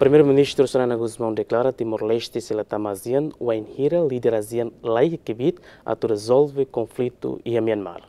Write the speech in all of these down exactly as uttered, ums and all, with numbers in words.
Primeiru-Ministru Xanana Gusmão deklara Timor-Leste sei la tama ASEAN wainhira líder ASEAN la iha kbiit atu rezolve konflitu iha Myanmar.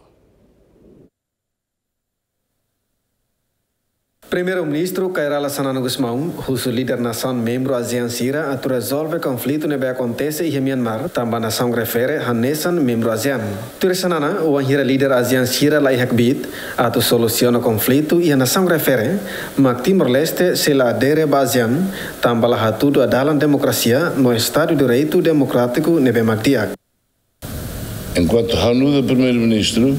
Primeiru-Ministru Kay Rala Xanana Gusmão husu líder nasaun membru ASEAN sira atu rezolve konflitu ne'ebé akontese iha Myanmar, tanba nasaun refere hanesan membru ASEAN. Tuir Xanana, wainhira líder ASEAN sira la iha kbiit atu solusiona konflitu iha nasaun refere, mak Timor-Leste sei la adere ba ASEAN, tanba la hatudu dalan demokrasia no Estadu Direitu Demokrátiku ne'ebé mak di'ak. Enkuantu ha'u nu'udar Primeiru-Ministru,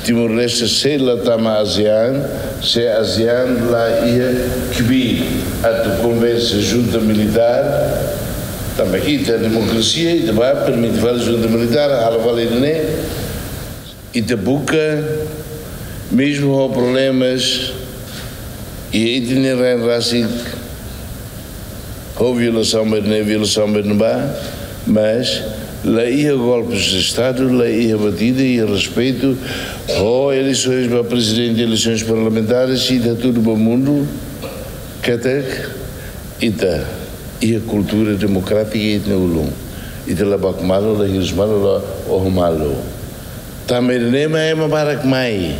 Timor-Leste sei la tama ASEAN, se ASEAN la iha kbiit atu konvense junta militár, tanba ita demokrasia, ita bá permite fali junta militár, halo fali ne'e, ita buka, mezmu ho problemas, iha ita-nia rain rasik, ho violasaun ba ne'e, violasaun ba ne'ebá, mas la iha golpes de Estadu, la iha batida, iha respeitu, ho eleisoens ba prezidente, eleisoens parlamentares, ita hatudu ba mundu katak ita iha kultura demokrátika iha ita-nia ulun. Ita la baku malu, la hirus malu, la oho malu. Tanba ne'e mak ema barak mai.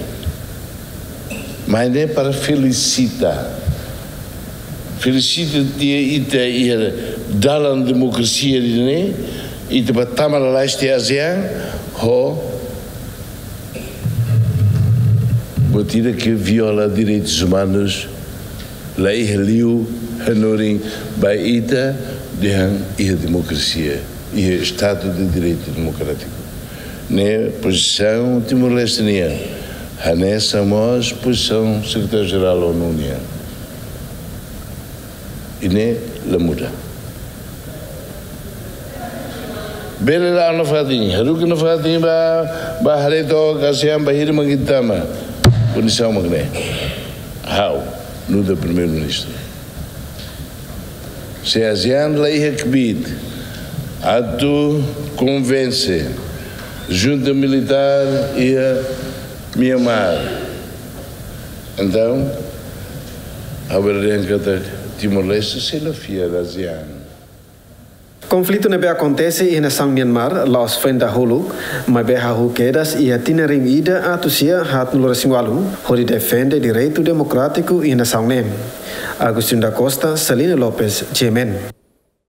Mai ne'e para felisita. Felisita tiha ita iha dalan demokrasia ida-ne'e, ita bá tama lalais tiha ASEAN, ho buat ida ke viola direitus umanus, la iha liu hanorin ba ita dehan iha demokrasia, iha Estadu de Direitu Demokrátiku. Ne'e pozisaun Timor-Leste nian, hanesan mós pozisaun Sekretáriu-Jerál ONU nian. I ne'e la muda. Bele la'o nafatin, haruka nafatin bá, bá haree took ASEAN bainhira mak ita tama. Kondisaun mak ne'e. Ha'u, nu'udar Primeiru-Ministru. Se ASEAN la iha kbiit atu konvense junta militár iha Myanmar, entaun, ha'u bele dehan katak Timor-Leste sei la fiar ASEAN. Konflitu ne'ebé akontese iha nasaun Myanmar la'ós foin dahuluk, maibé hahú kedas iha tinan rihun ida atus sia haatnulu resin ualu, hodi defende direitu demokrátiku iha nasaun ne'e. Agostinho da Costa, Celina Lopes, GMN.